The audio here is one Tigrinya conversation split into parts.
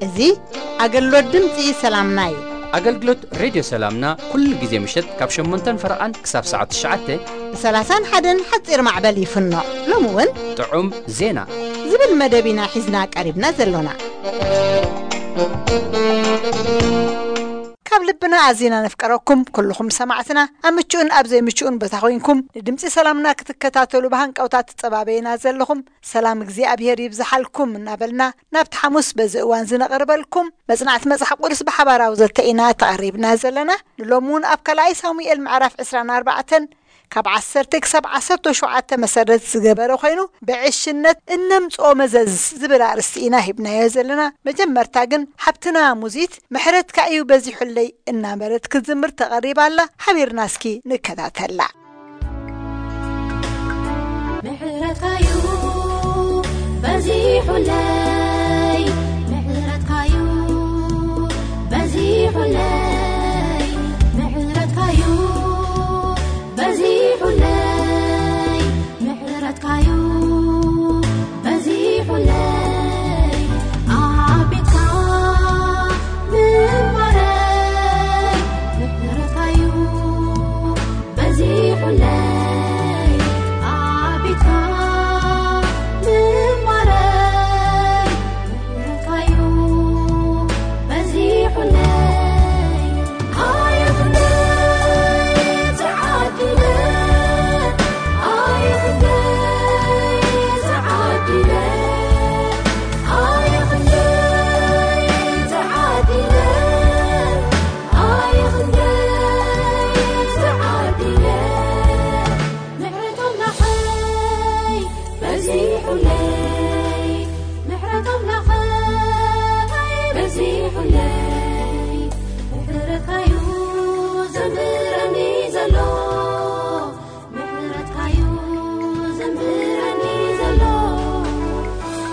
እዚ ኣገልግሎት ድምፂ ሰላምና እዩ። ኣገልግሎት ሬድዮ ሰላምና ኩሉ ግዜ ምሸት ካብ ሸሞንተን ፈረቓን ክሳብ ሰዓት ትሽዓተ ብ30ን ሓደን ሓፂር ማዕበል ይፍኖ። ሎሚ እውን ጥዑም ዜና ዝብል መደብ ኢና ሒዝና ቀሪብና ዘሎና። ካብ ልብና ኣዚና ነፍቀረኩም ኩልኹም ሰማዕትና፣ ኣብ ምቹእን ኣብ ዘይምቹእን ቦታ ኮይንኩም ንድምፂ ሰላምና ክትከታተሉ ብሃንቀውታ ትጸባበዩና ዘለኹም፣ ሰላም እግዚኣብሔር ይብዝሓልኩም እናበልና፣ ናብቲ ሓሙስ በዚ እዋን ዝነቕርበልኩም መጽናዕቲ መጽሓፍ ቅዱስ ብሓባራዊ ዘተ ኢና ተቐሪብና ዘለና። ንሎሚ እውን ኣብ ካልኣይ ሳሙኤል ምዕራፍ ዕስራን ኣርባዕተን ካብ ዓሰርተ ክሳብ ዓሰርተ ሸውዓተ መሰረት ዝገበረ ኮይኑ፣ ብዕሽነት እነምጽኦ መዘዝ ዝብል ኣርእስቲ ኢና ሂብናዮ ዘለና። መጀመርታ ግን ሓብትና ሙዚት ምሕረትካ እዩ በዚሑለይ እናበለት ክትዝምር ተቐሪባ ኣላ። ሓቢርና እስኪ ንከታተላ። ምሕረትካዩ በዚሑለይ፣ ምሕረትካዩ በዚሑለይ፣ ምሕረትካዩ በዚሑለይ፣ ምሕረትካዩ በዚሑለይ፣ ዓቢድካ ምንባረይ፣ ምሕረትካዩ በዚሑለይ፣ ዓቢድካ ምንባረይ፣ ምሕረትካዩ በዚሑለይ። ኣየ ክንደይ ተዓዲለ፣ ኣየ ክንደይ ተዓዲለ፣ ኣየ ክንደይ ተዓዲለ፣ ኣየ ክንደይ ተዓዲለ፣ ምሕረት ኣምላኸይ በዚሑለይ፣ ምሕረት ኣምላኸይ በዚሑለይ፣ ምሕረትካዩ ዘንብረኒ ዘሎ፣ ምሕረትካዩ ዘንብረኒ ዘሎ፣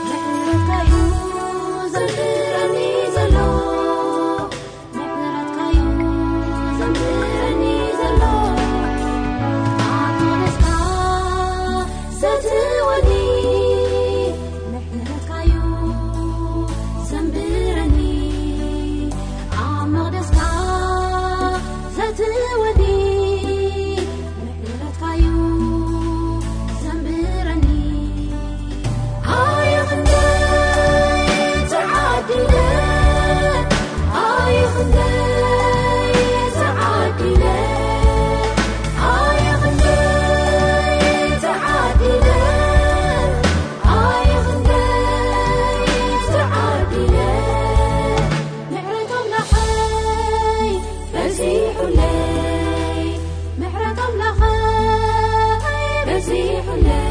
ምሕረትካዩ ዘንብረኒ ዘሎ፣ ምሕረትካዩ ዘንብረኒ ዘሎ፣ ኣብ መቕደስካ ዘትወኒ፣ ምሕረትካዩ ዘንብረኒ፣ ኣብ መቕደስካ ዘትወኒ፣ ምሕረትካዩ ዘንብረኒ። ኣየ ክንደይ ተዓዲለ፣ ኣየ ክንደይ ተዓዲለ፣ ኣየ ክንደይ ተዓዲለ፣ ኣየ ክንደይ ተዓዲለ፣ ምሕረት ኣምላኸይ በዚሑለይ፣ ምሕረት ኣምላኸይ በዚሑለይ።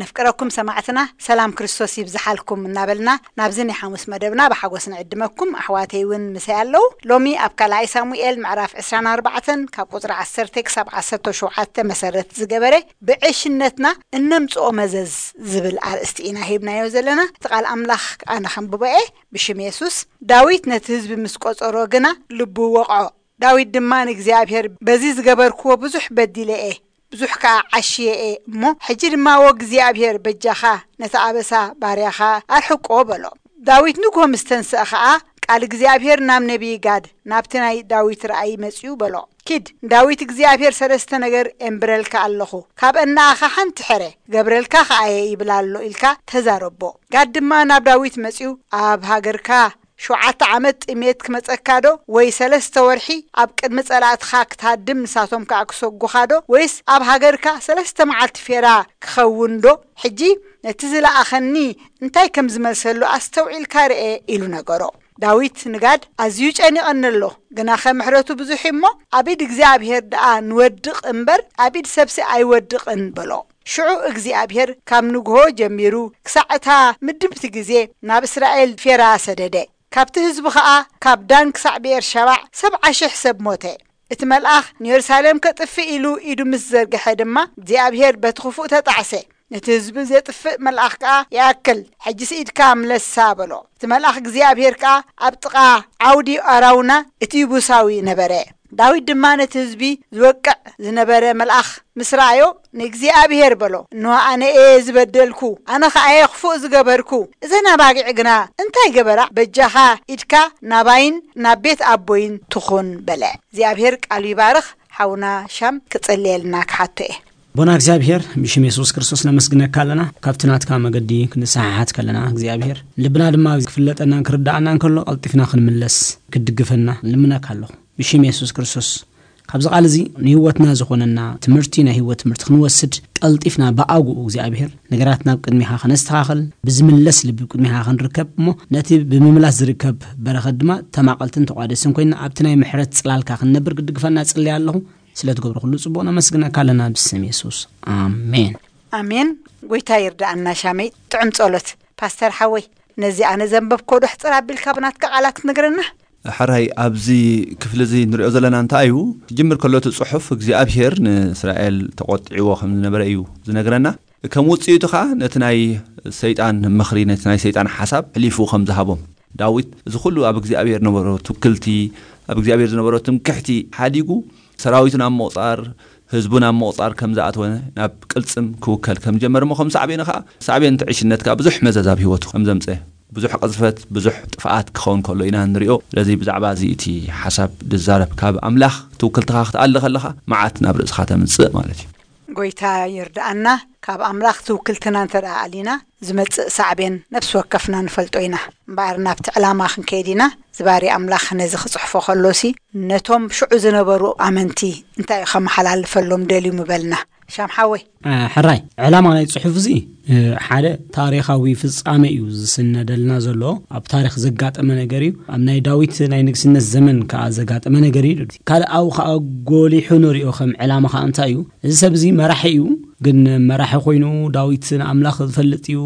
ነፍቅረኩም ሰማዕትና፣ ሰላም ክርስቶስ ይብዝሓልኩም እናበልና፣ ናብዚ ናይ ሓሙስ መደብና ብሓጎስ ንዕድመኩም። ኣሕዋተይ እውን ምሳይ ኣለዉ። ሎሚ ኣብ ካልኣይ ሳሙኤል ምዕራፍ ዕስራን ኣርባዕተን ካብ ቁጽሪ ዓሰርተ ክሳብ ዓሰርተ ሸውዓተ መሰረት ዝገበረ፣ ብዕሽነትና እነምጽኦ መዘዝ ዝብል ኣርእስቲ ኢና ሂብናዮ ዘለና። እቲ ቃል ኣምላኽ ኣነ ከንብቦ እየ። ብሽም የሱስ፣ ዳዊት ነቲ ህዝቢ ምስ ቆጸሮ ግና ልቡ ወቕዖ። ዳዊት ድማ ንእግዚኣብሔር፣ በዚ ዝገበርክዎ ብዙሕ በዲለ እየ፣ ብዙሕ ከኣ ዓሽየ እየ እሞ፣ ሕጂ ድማ፣ ወ እግዚኣብሔር፣ በጃኻ ነቲ ኣበሳ ባርያኻ ኣርሕቆ በሎ። ዳዊት ንግሆ ምስ ተንስአ ኸኣ፣ ቃል እግዚኣብሔር ናብ ነቢይ ጋድ፣ ናብቲ ናይ ዳዊት ራእይ መጺኡ በሎ፣ ኪድ፣ ንዳዊት እግዚኣብሔር ሰለስተ ነገር ኤንብረልካ ኣለኹ፣ ካብ እነኣኻ ሓንቲ ሕረ፣ ገብረልካ ኸኣ እየ ይብል ኣሎ ኢልካ ተዛረቦ። ጋድ ድማ ናብ ዳዊት መጺኡ፣ ኣብ ሃገርካ ሸውዓተ ዓመት ጥሜት ክመጸካ ዶ? ወይ ሰለስተ ወርሒ ኣብ ቅድሚ ጸላእትኻ ክትሃድም ንሳቶም ከኣ ክሰጉኻ ዶ? ወይስ ኣብ ሃገርካ ሰለስተ መዓልቲ ፌራ ክኸውን ዶ? ሕጂ ነቲ ዝለኣኸኒ እንታይ ከም ዝመልሰሉ ኣስተውዒልካ ርኤ ኢሉ ነገሮ። ዳዊት ንጋድ ኣዝዩ ጨኒቐኒ ኣሎ፣ ግናኸ ምሕረቱ ብዙሕ እዩ እሞ ኣብ ኢድ እግዚኣብሔር ደኣ ንወድቕ እምበር ኣብ ኢድ ሰብሲ ኣይወድቕን በሎ። ሽዑ እግዚኣብሔር ካብ ንግሆ ጀሚሩ ክሳዕ እታ ምድብቲ ግዜ ናብ እስራኤል ፌራ ሰደደ። ካብቲ ህዝቢ ኸኣ ካብ ዳን ክሳዕ ብኤርሸባዕ ሰብዓ ሽሕ ሰብ ሞተ። እቲ መልኣኽ ንየሩሳሌም ከጥፍእ ኢሉ ኢዱ ምስ ዘርግሐ ድማ እግዚኣብሔር በቲ ክፉእ ተጣዕሰ። ነቲ ህዝቢ ዜጥፍእ መልኣኽ ከኣ ይኣክል፣ ሕጂስ ኢድካ ምለሳ በሎ። እቲ መልኣኽ እግዚኣብሔር ከኣ ኣብ ጥቓ ዓውዲ ኣራውና እቲ ይቡሳዊ ነበረ። ዳዊት ድማ ነቲ ህዝቢ ዝወቅዕ ዝነበረ መልኣኽ ምስ ረኣዮ፣ ንእግዚኣብሔር በሎ፣ እንሆ ኣነ እየ ዝበደልኩ፣ ኣነ ኸኣ እየ ክፉእ ዝገበርኩ። እዘን ኣባጊዕ ግና እንታይ ገበራ? በጃኻ ኢድካ ናባይን ናብ ቤት ኣቦይን ትኹን በለ። እግዚኣብሔር ቃሉ ይባርኽ። ሓውና ሻም ክጽልየልና ክሓቶ እየ። ኣቦና እግዚኣብሔር፣ ብሽም የሱስ ክርስቶስ ነመስግነካ ኣለና። ካብቲ ናትካ መገዲ ክንሰሓሓት ከለና እግዚኣብሔር፣ ልብና ድማ ክፍለጠናን ክርዳኣናን ከሎ ቀልጢፍና ክንምለስ ክትድግፈና ንልምነካ ኣለኹ። ብሽም የሱስ ክርስቶስ፣ ካብዚ ቃል እዚ ንህይወትና ዝኾነና ትምህርቲ፣ ናይ ህይወት ትምህርቲ ክንወስድ ቀልጢፍና ብኣግኡ እግዚኣብሔር ነገራት ናብ ቅድሚኻ ከነስተኻኽል፣ ብዝምለስ ልቢ ቅድሚኻ ክንርከብ እሞ ነቲ ብምምላስ ዝርከብ በረኸት ድማ ተማቐልትን ተቋደስን ኮይና ኣብቲ ናይ ምሕረት ጽላልካ ክንነብር ክድግፈና ጽልያ ኣለኹ። ስለ ትገብሮ ኩሉ ጽቡቕ ነመስግነካ ኣለና ብስም የሱስ። ኣሜን። ኣሜን። ጎይታ ይርዳኣና። ሻመይ ጥዑም ጸሎት። ፓስተር ሓወይ፣ ነዚ ኣነ ዘንበብኮ ዶ ሕጽር ኣቢልካ ብናትካ ቃላት ክትነግረና? ሕራይ፣ ኣብዚ ክፍሊ እዚ ንሪኦ ዘለና እንታይ እዩ? ክጅምር ከሎ እቲ ጽሑፍ እግዚኣብሔር ንእስራኤል ተቖጢዕዎ ከም ዝነበረ እዩ ዝነግረና። ከም ውጽኢቱ ኸኣ ነቲ ናይ ሰይጣን ምኽሪ፣ ነቲ ናይ ሰይጣን ሓሳብ ሕሊፉ ከም ዝሃቦም። ዳዊት እዚ ኩሉ ኣብ እግዚኣብሔር ነበሮ ትውክልቲ፣ ኣብ እግዚኣብሔር ዝነበሮ ትምክሕቲ ሓዲጉ ሰራዊቱ ናብ ምቑጻር፣ ህዝቡ ናብ ምቑጻር ከም ዝኣተወ፣ ናብ ቅልጽም ክውከል ከም ዝጀመረ እሞ ከም ሳዕቤኑ ኸኣ ሳዕቤን እቲ ዕሽነት ከኣ ብዙሕ መዘዝ ኣብ ህይወቱ ከም ዘምጸ፣ ብዙሕ ቅዝፈት፣ ብዙሕ ጥፍኣት ክኸውን ከሎ ኢና ንሪኦ። ስለዚ ብዛዕባ እዚ እቲ ሓሳብ ድዛረብ ካብ ኣምላኽ ትውክልትኻ ክትኣሊ ከለኻ መዓት ናብ ርእስኻ ተምጽእ ማለት እዩ። ጎይታ ይርድኣና። ካብ ኣምላኽ ትውክልትና እንተ ደኣ ኣሊና ዝመጽእ ሳዕቤን ነፍሲ ወከፍና ንፈልጦ ኢና። እምበኣር ናብቲ ዕላማ ክንከይድ ኢና። ዝባሪ ኣምላኽ ነዚ ክጽሕፎ ከሎሲ ነቶም ሽዑ ዝነበሩ ኣመንቲ እንታይ እዩ ከመሓላልፈሎም ደልዩ ምበልና? ሻም ሓወይ። እ፣ ሕራይ፣ ዕላማ ናይ ጽሑፍ እዚ፣ እ፣ ሓደ ታሪኻዊ ፍጻሜ እዩ ዝስነደልና ዘሎ። ኣብ ታሪኽ ዘጋጠመ ነገር እዩ። ኣብ ናይ ዳዊት ናይ ንግስነት ዘመን ከኣ ዘጋጠመ ነገር እዩ። ካልእ ኣብኡ ከኣ ጎሊሑ ንሪኦ ከም ዕላማ ከኣ እንታይ እዩ? እዚ ሰብ እዚ መራሒ እዩ። ግን መራሒ ኮይኑ ዳዊት ንኣምላኽ ዝፈልጥ እዩ።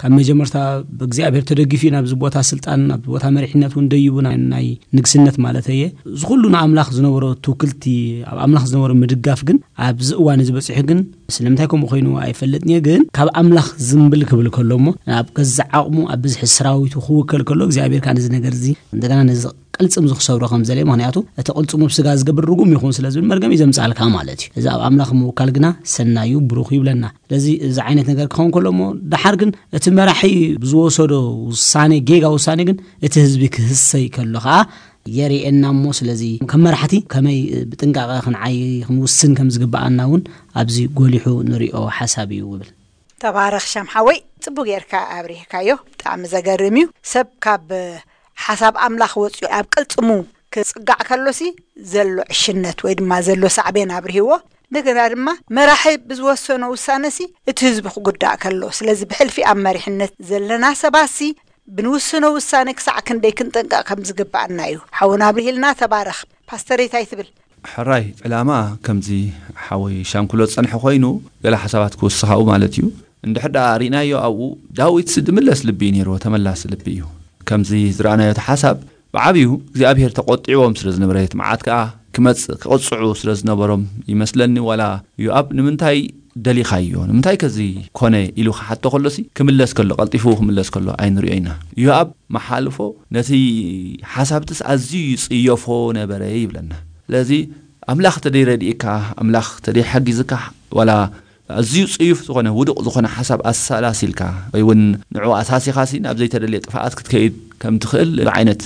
ካብ መጀመርታ ብእግዚኣብሔር ተደጊፉ እዩ ናብዚ ቦታ ስልጣን፣ ናብዚ ቦታ መሪሕነት እውን ደይቡ፣ ናይ፣ ናይ ንግስነት ማለት እየ። እዚ ኩሉ ንኣምላኽ ዝነበሮ ትውክልቲ፣ ኣብ ኣምላኽ ዝነበሮ ምድጋፍ ግን ኣብዚ እዋን እዚ በጺሑ ግን ስለምንታይ ከምኡ ኮይኑ ኣይፈልጥን እየ። ግን ካብ ኣምላኽ ዝምብል ክብል ከሎ እሞ ኣብ ገዛእ ዓቕሙ ኣብ ብዝሒ ሰራዊቱ ክውከል ከሎ እግዚኣብሔር ከዓ ነዚ ነገር እዚ እንደገና ነዚ ቅልጽም እዚ ክሰብሮ ከም ዘለ፣ ምኽንያቱ እቲ ቅልጽሙ ብስጋ ዝገብር ርጉም ይኹን ስለ ዝብል መርገም እዩ ዘምጽኣልካ ማለት እዩ። እዚ ኣብ ኣምላኽ ምውካል ግና ሰናዩ ብሩኽ ይብለና። ስለዚ እዚ ዓይነት ነገር ክኸውን ከሎ እሞ ደሓር ግን እቲ መራሒ ብዝወሰዶ ውሳኔ፣ ጌጋ ውሳኔ ግን እቲ ህዝቢ ክህሰይ ከሎ ከዓ የርእየና እሞ፣ ስለዚ ከም መራሕቲ ከመይ ብጥንቃቐ ክንዓይ ክንውስን ከም ዝግብኣና እውን ኣብዚ ጎሊሑ ንሪኦ ሓሳብ እዩ ይብል። ተባረኽ ሻም ሓወይ፣ ጽቡቅ ጌርካ ኣብሪህካዮ። ብጣዕሚ ዘገርም እዩ። ሰብ ካብ ሓሳብ ኣምላኽ ወጺኡ ኣብ ቅልጽሙ ክጽጋዕ ከሎሲ ዘሎ ዕሽነት ወይ ድማ ዘሎ ሳዕቤን ኣብሪህዎ። እንደገና ድማ መራሒ ብዝወሰኖ ውሳነሲ እቲ ህዝቢ ክጉዳእ ከሎ፣ ስለዚ ብሕልፊ ኣብ መሪሕነት ዘለና ሰባትሲ ብንውስኖ ውሳነ ክሳዕ ክንደይ ክንጥንቀቕ ከም ዝግብኣና እዩ። ሓውና ኣብሪሂልና፣ ተባረኽ። ፓስተር እንታይ ትብል? ሕራይ፣ ዕላማ ከምዚ ሓወይ ሻንኩሎ ዝጸንሐ ኮይኑ ገለ ሓሳባት ክውስኻኡ ማለት እዩ። እንድሕር ደኣ ርኢናዮ ኣብኡ ዳዊትሲ ድምለስ ልቢ እዩ ነይርዎ፣ ተመላሲ ልቢ እዩ። ከምዚ ዝረኣናዮ እቲ ሓሳብ ብዓብዩ እግዚኣብሔር ተቖጢዕዎም ስለ ዝነበረ እቲ መዓት ከኣ ክመጽእ ክቕጽዑ ስለ ዝነበሮም ይመስለኒ። ዋላ ዮኣብ ንምንታይ ደሊኻዮ? ንምንታይ ከዚ ኮነ ኢሉ ክሓቶ ከሎሲ ክምለስ ከሎ፣ ቀልጢፉ ክምለስ ከሎ ኣይንሪኦ ኢና። ዮኣብ መሓልፎ ነቲ ሓሳብትስ ኣዝዩ ይጽየፎ ነበረ ይብለና። ስለዚ ኣምላኽ ተደይረድእካ፣ ኣምላኽ ተደይሓጊዝካ፣ ዋላ ኣዝዩ ጽዩፍ ዝኾነ ውዱቕ ዝኾነ ሓሳብ ኣሰላሲልካ ወይ እውን ንዕኡ ኣሳሲኻሲ ናብ ዘይተደልየ ጥፍኣት ክትከይድ ከም ትኽእል ዓይነት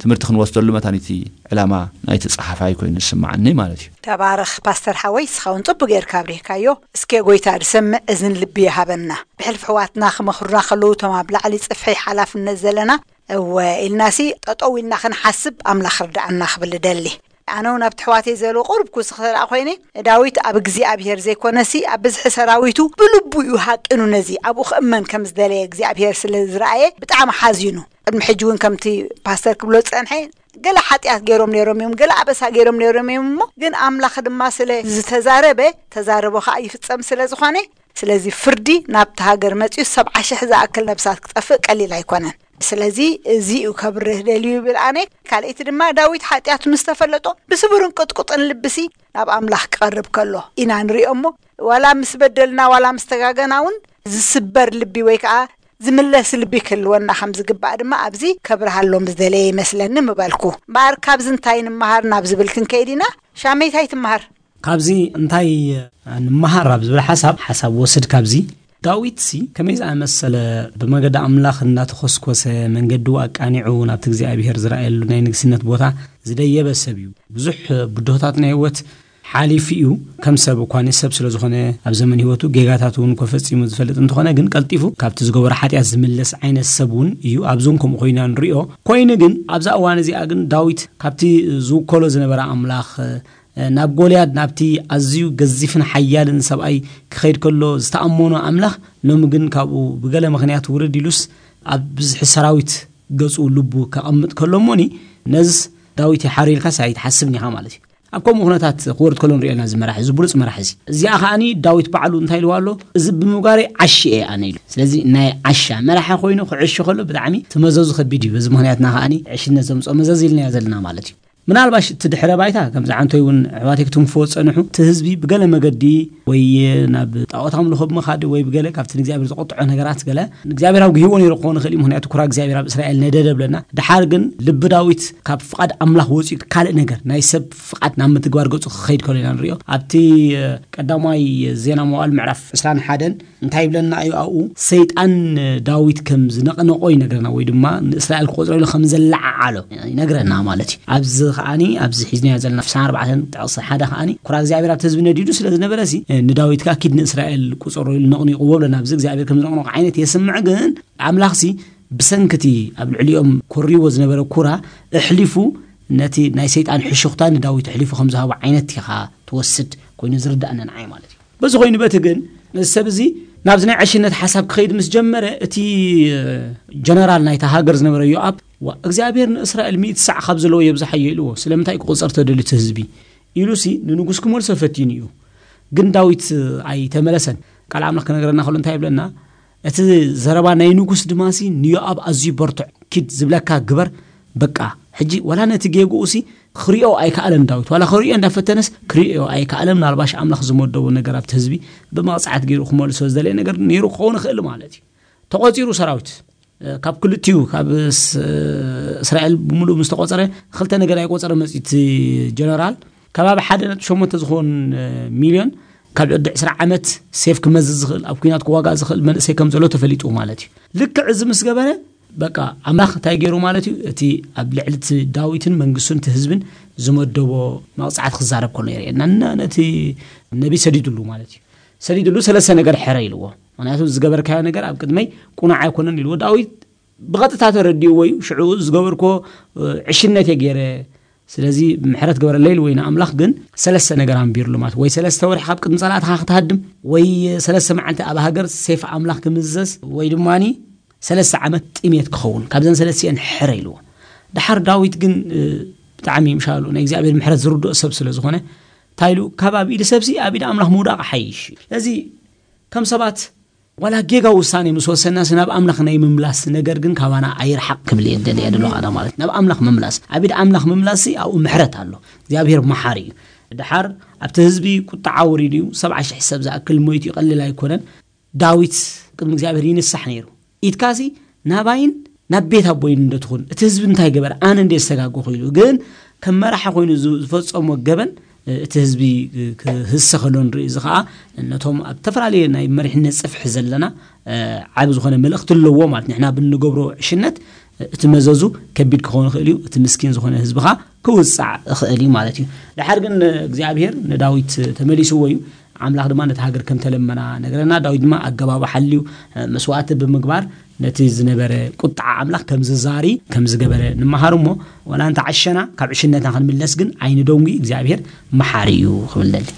ትምህርቲ ክንወስደሉ መታን እቲ ዕላማ ናይቲ ጸሓፋይ ኮይኑ ዝስምዓኒ ማለት እዩ። ተባረኽ ፓስተር ሓወይ፣ ንስኻ እውን ጽቡቅ ጌርካ ኣብሪህካዮ። እስከ ጎይታ ዝሰምዕ እዝን ልቢ ይሃበና። ብሕልፊ ኣሕዋትና ክመኽሩና ከለዉ፣ እቶም ኣብ ላዕሊ ጽፍሒ ሓላፍነት ዘለና፣ እወ ኢልናሲ ጠጠው ኢልና ክንሓስብ ኣምላኽ ርድኣና ክብል እደሊ። ኣነ እውን ኣብቲ ኣሕዋተይ ዘሎ ቁሩብ ክውስኽ ተደኣ ኮይነ፣ ዳዊት ኣብ እግዚኣብሔር ዘይኮነሲ ኣብ ብዝሒ ሰራዊቱ ብልቡ እዩ ሃቂኑ፣ ነዚ ኣብኡ ክእመን ከም ዝደለየ እግዚኣብሔር ስለ ዝረኣየ ብጣዕሚ ሓዚኑ። ቅድሚ ሕጂ እውን ከምቲ ፓስተር ክብሎ ዝጸንሐ፣ ገለ ሓጢኣት ገይሮም ነይሮም እዮም፣ ገለ ኣበሳ ገይሮም ነይሮም እዮም፣ እሞ ግን ኣምላኽ ድማ ስለ ዝተዛረበ፣ ተዛረቦ ከኣ ይፍጸም ስለ ዝኾነ፣ ስለዚ ፍርዲ ናብቲ ሃገር መጺኡ ሰብዓ ሽሕ ዝኣክል ነብሳት ክጠፍእ ቀሊል ኣይኮነን። ስለዚ እዚ እዩ ከብርህ ደልዩ ይብል ኣነ። ካልኣይቲ ድማ ዳዊት ሓጢኣቱ ምስ ተፈለጦ ብስቡርን ቅጥቁጥን ልብሲ ናብ ኣምላኽ ክቐርብ ከሎ ኢና ንሪኦ እሞ፣ ዋላ ምስ በደልና ዋላ ምስ ተጋገና እውን ዝስበር ልቢ ወይ ከዓ ዝምለስ ልቢ ክህልወና ከም ዝግባእ ድማ ኣብዚ ከብርሃሎም ዝደለየ ይመስለኒ ምበልኩ። እምበኣር ካብዚ እንታይ ንምሃር ናብ ዝብል ክንከይድ ኢና። ሻመይ እንታይ ትምሃር? ካብዚ እንታይ ንምሃር ኣብ ዝብል ሓሳብ ሓሳብ ወስድ ካብዚ ዳዊት ሲ ከመይ ዝኣመሰለ ብመገዲ ኣምላኽ እናተኾስኮሰ መንገዱ ኣቃኒዑ ናብቲ እግዚኣብሔር ዝረኣየሉ ናይ ንግስነት ቦታ ዝደየበ ሰብ እዩ። ብዙሕ ብድሆታት ናይ ህይወት ሓሊፉ እዩ። ከም ሰብ እኳ ንሰብ ስለ ዝኾነ ኣብ ዘመን ህይወቱ ጌጋታት እውን እኮ ፈጺሙ ዝፈልጥ እንተኾነ ግን ቀልጢፉ ካብቲ ዝገበሮ ሓጢኣት ዝምለስ ዓይነት ሰብ እውን እዩ። ኣብዚ እውን ከምኡ ኮይና ንሪኦ። ኮይኑ ግን ኣብዛ እዋን እዚኣ ግን ዳዊት ካብቲ ዝውከሎ ዝነበረ ኣምላኽ ናብ ጎልያድ ናብቲ ኣዝዩ ገዚፍን ሓያልን ሰብኣይ ክኸይድ ከሎ ዝተኣመኖ ኣምላኽ ሎሚ ግን ካብኡ ብገለ ምኽንያት ውርድ ኢሉስ ኣብ ብዝሒ ሰራዊት ገጹ ልቡ ከቐምጥ ከሎ እሞኒ ነዝስ ዳዊት ይሓር ኢልካስ ኣይትሓስብን ኢኻ ማለት እዩ። ኣብ ከምኡ ኩነታት ክወርድ ከሎ ንሪኦ ኢና እዚ መራሒ፣ እዚ ብሉጽ መራሒ እዚ። እዚኣ ከኣኒ ዳዊት ባዕሉ እንታይ ኢልዋ ኣሎ? እዚ ብምግባረይ ዓሺ እየ ኣነ ኢሉ። ስለዚ ናይ ዓሻ መራሒ ኮይኑ ክዕሺ ከሎ ብጣዕሚ እቲ መዘዙ ከቢድ እዩ። በዚ ምኽንያትና ከኣኒ ዕሽነት ዘምፅኦ መዘዝ ኢልናዮ ዘለና ማለት እዩ። ምናልባሽ እቲ ድሕረ ባይታ ከምዚ ዓንቶይ እውን ኣሕዋተይ ክትንፍዎ ዝፀንሑ እቲ ህዝቢ ብገለ መገዲ ወይ ናብ ጣዖት ኣምልኾ ብምኻድ ወይ ብገለ ካብቲ ንእግዚኣብሔር ዘቆጥዖ ነገራት ገለ ንእግዚኣብሔር ኣብ ግሂዎ ነይሩ ክኾን ይኽእል እዩ። ምክንያቱ ኩራ እግዚኣብሔር ኣብ እስራኤል ነደደ ብለና። ድሓር ግን ልቢ ዳዊት ካብ ፍቓድ ኣምላኽ ወፂኡ ካልእ ነገር ናይ ሰብ ፍቓድ ናብ ምትግባር ገፁ ክኸይድ ከሎ ኢና ንሪኦ። ኣብቲ ቀዳማይ ዜና መዋዕል ምዕራፍ ዕስራን ሓደን እንታይ ይብለና እዩ ኣብኡ? ሰይጣን ዳዊት ከም ዝነቕነቆ ይነግረና፣ ወይ ድማ ንእስራኤል ክቆፅሮ ኢሉ ከም ዘለዓዓሎ ይነግረና ማለት እዩ። ኣብዚ ከዓኒ ኣብዚ ሒዝናዮ ዘለና ዕስራን ኣርባዕተን ጥቕሲ ሓደ ከዓኒ ኩራ እግዚኣብሔር ኣብቲ ህዝቢ ነዲዱ ስለ ዝነበረ ሲ ንዳዊት ከዓ ኪድ ንእስራኤል ቁፀሮ ኢሉ ነቕኒቕዎ ብለና። ኣብዚ እግዚኣብሔር ከም ዝነቕነቆ ዓይነት የስምዕ፣ ግን ኣምላኽ ሲ ብሰንክቲ ኣብ ልዕሊኦም ኮሪዎ ዝነበረ ኩራ ኣሕሊፉ ነቲ ናይ ሰይጣን ሕሹኽታ ንዳዊት ኣሕሊፉ ከም ዝሃቦ ዓይነት ኢኻ ትወስድ ኮይኑ ዝርዳእና ንዓይ ማለት እዩ። በዚ ኮይኑ በቲ ግን እዚ ሰብ እዚ ናብዚ ናይ ዕሽነት ሓሳብ ክኸይድ ምስ ጀመረ እቲ ጀነራል ናይታ ሃገር ዝነበረ ዮኣብ እግዚኣብሔር ንእስራኤል ሚእቲ ሳዕ ካብ ዘለዎ የብዝሓዮ ኢልዎ። ስለምንታይ ክቆፀር ተደልዩ እቲ ህዝቢ ኢሉ ሲ ንንጉስ ክመልሶ ፈቲኑ እዩ። ግን ዳዊት ኣይተመለሰን። ቃል ኣምላኽ ክነግረና ከሎ እንታይ ይብለና? እቲ ዘረባ ናይ ንጉስ ድማ ሲ ንዮኣብ ኣዝዩ በርትዕ ኪድ ዝብለካ ግበር። በቃ ሕጂ ዋላ ነቲ ጌግኡ ሲ ክሪኦ ኣይከኣለን ዳዊት። ዋላ ክሪኦ እንዳፈተነስ ክሪኦ ኣይከኣለን። ምናልባሽ ኣምላኽ ዝመደቦ ነገር ኣብቲ ህዝቢ ብመቕፃዕት ገይሩ ክመልሶ ዝደለየ ነገር ነይሩ ክኸውን ይኽእል ማለት እዩ። ተቖፂሩ ሰራዊት ካብ ክልቲኡ ካብ እስራኤል ብምሉእ ምስ ተቖፀረ ክልተ ነገር ኣይቆፀረ መፅዩ እቲ ጀነራል ከባቢ ሓደ ነጥቢ ሸሞንተ ዝኾን ሚልዮን ካብ ዕዲ ዕስራ ዓመት ሴፍ ክመዝዝ ዝኽእል ኣብ ኩናት ክዋጋእ ዝኽእል መንእሰይ ከም ዘሎ ተፈሊጡ ማለት እዩ። ልክዕ እዚ ምስ ገበረ በቃ ኣምላኽ እንታይ ገይሩ ማለት እዩ? እቲ ኣብ ልዕሊ እቲ ዳዊትን መንግስቱን እቲ ህዝብን ዝመደቦ መቕፃዕቲ ክዛረብ ከሎ የርእየና። እና ነቲ ነቢ ሰዲድሉ ማለት እዩ። ሰዲድሉ ሰለስተ ነገር ሕረ ኢልዎ። ምክንያቱ ዝገበርካዮ ነገር ኣብ ቅድመይ ቁኑዕ ኣይኮነን ኢልዎ። ዳዊት ብቐጥታ ተረዲእዎ እዩ። ሽዑ ዝገበርኮ ዕሽነት እየ ገይረ፣ ስለዚ ምሕረት ግበረለይ ኢልዎ እዩ ንኣምላኽ። ግን ሰለስተ ነገር ኣንቢርሉ ማለት ወይ ሰለስተ ወርሒ ካብ ቅድሚ ጸላእትኻ ክትሃድም ወይ ሰለስተ መዓልቲ ኣብ ሃገር ሴፍ ኣምላኽ ክምዘዝ ወይ ድማኒ ሰለስተ ዓመት ጥሜት ክኸውን ካብዘን ሰለስቲአን ሕረ ኢልዎ። ድሓር ዳዊት ግን ብጣዕሚ ምሻሉ ናይ እግዚኣብሔር ምሕረት ዝርድኦ ሰብ ስለ ዝኾነ እንታይ ኢሉ ካብ ኣብ ኢድ ሰብሲ ኣብ ኢድ ኣምላኽ ምውዳቕ ሓይሽ እዩ። ስለዚ ከም ሰባት ዋላ ጌጋ ውሳኔ ምስ ወሰናሲ ናብ ኣምላኽ ናይ ምምላስ ነገር ግን ካባና ኣይርሓቕ ክብል እየ ደልየ ደለኹ ኣነ ማለት ናብ ኣምላኽ ምምላስ ኣብ ኢድ ኣምላኽ ምምላስ ኣብኡ ምሕረት ኣሎ። እግዚኣብሔር መሓሪ እዩ። ድሓር ኣብቲ ህዝቢ ቁጣዓ ወሪዱ እዩ። ሰብዓ ሽሕ ሰብ ዝኣክል ሞይቱ ይቐልል ኣይኮነን። ዳዊት ቅድሚ እግዚኣብሔር ይንሳሕ ነይሩ። ኢድካሲ ናባይን ናብ ቤት ኣቦይን እንደትኹን እቲ ህዝቢ እንታይ ገበር ኣነ እንደ ዝተጋጎ ኮይኑ ግን ከም መራሒ ኮይኑ ዝፈጸሞ ገበን እቲ ህዝቢ ክህሰ ከሎ ንርኢ። እዚ ከዓ ነቶም ኣብ ዝተፈላለየ ናይ መሪሕነት ጽፍሒ ዘለና ዓብ ዝኾነ መልእኽቲ ኣለዎ ማለት ንሕና ብንገብሮ ዕሽነት እቲ መዘዙ ከቢድ ክኸውን ይኽእል እዩ። እቲ ምስኪን ዝኾነ ህዝብኻ ክውፃዕ ይኽእል እዩ ማለት እዩ። ድሓር ግን እግዚኣብሔር ንዳዊት ተመሊስዎ እዩ። ኣምላኽ ድማ ነቲ ሃገር ከም ተለመና ነገረና። ዳዊት ድማ ኣገባቡ ሓልዩ መስዋእቲ ብምግባር ነቲ ዝነበረ ቁጣዓ ኣምላኽ ከም ዝዛሪ ከም ዝገበረ ንምሃር እሞ ዋላ እንተ ዓሸና ካብ ዕሽነትና ክንምለስ ግን ኣይንደንጉ። እግዚኣብሔር መሓሪ እዩ ክብል ደሊ።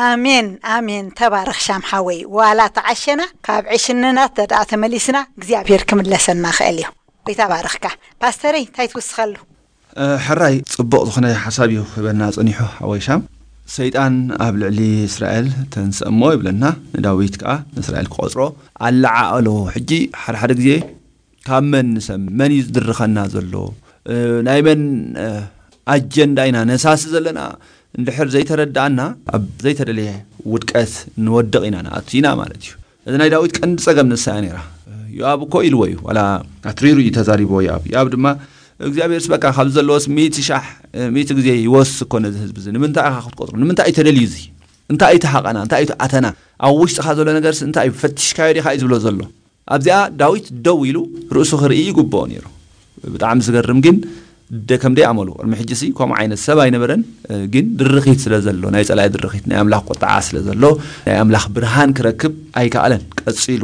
ኣሜን ኣሜን። ተባረኽ ሻም ሓወይ። ዋላ ተዓሸና ካብ ዕሽንና ተደኣ ተመሊስና እግዚኣብሔር ክምለሰና ክእል እዩ። ይተባረኽካ ፓስተረይ። እንታይ ትውስኸሉ? ሕራይ ጽቡቕ ዝኾነ ሓሳብ እዩ ክህበና ጸኒሑ ሓወይ ሻም። ሰይጣን ኣብ ልዕሊ እስራኤል ተንስእሞ ይብለና ንዳዊት ከኣ ንእስራኤል ክቖጽሮ ኣለዓኣሎ። ሕጂ ሓደ ሓደ ግዜ ካብ መን ንሰም መን እዩ ዝድርኸና ዘሎ ናይ መን ኣጀንዳ ኢና ነሳሲ ዘለና እንድሕር ዘይተረዳእና ኣብ ዘይተደለየ ውድቀት ንወድቕ ኢና ንኣቱ ኢና ማለት እዩ። እዚ ናይ ዳዊት ቀንዲ ጸገም ንሳ እያ ነይራ። ዮኣብ እኮ ኢልዎ እዩ፣ ዋላ ኣትሪሩ እዩ ተዛሪብዎ ዮኣብ። ዮኣብ ድማ እግዚኣብሔርስ በቃ ካብ ዘለዎስ ሚእቲ ሻሕ፣ ሚእቲ ግዜ ይወስ እኮ ነዚ ህዝቢ እዚ። ንምንታይ ኢኻ ክትቆጽሮ? ንምንታይ እዩ ተደልዩ እዚ? እንታይ እዩ እቲ ሓቐና? እንታይ እዩ እቲ ኣተና? ኣብ ውሽጥኻ ዘሎ ነገርስ እንታይ እዩ? ፈቲሽካዮ ዲኻ እዩ ዝብሎ ዘሎ። ኣብዚኣ ዳዊት ደው ኢሉ ርእሱ ክርኢ ይግብኦ ነይሩ። ብጣዕሚ ዝገርም ግን፣ ደ ከም ደይ ኣመሉ ቅድሚ ሕጂ ሲ ከምኡ ዓይነት ሰብ ኣይነበረን። ግን ድርኺት ስለ ዘሎ፣ ናይ ጸላኢ ድርኺት፣ ናይ ኣምላኽ ቁጥዓ ስለ ዘሎ፣ ናይ ኣምላኽ ብርሃን ክረክብ ኣይከኣለን። ቀጺሉ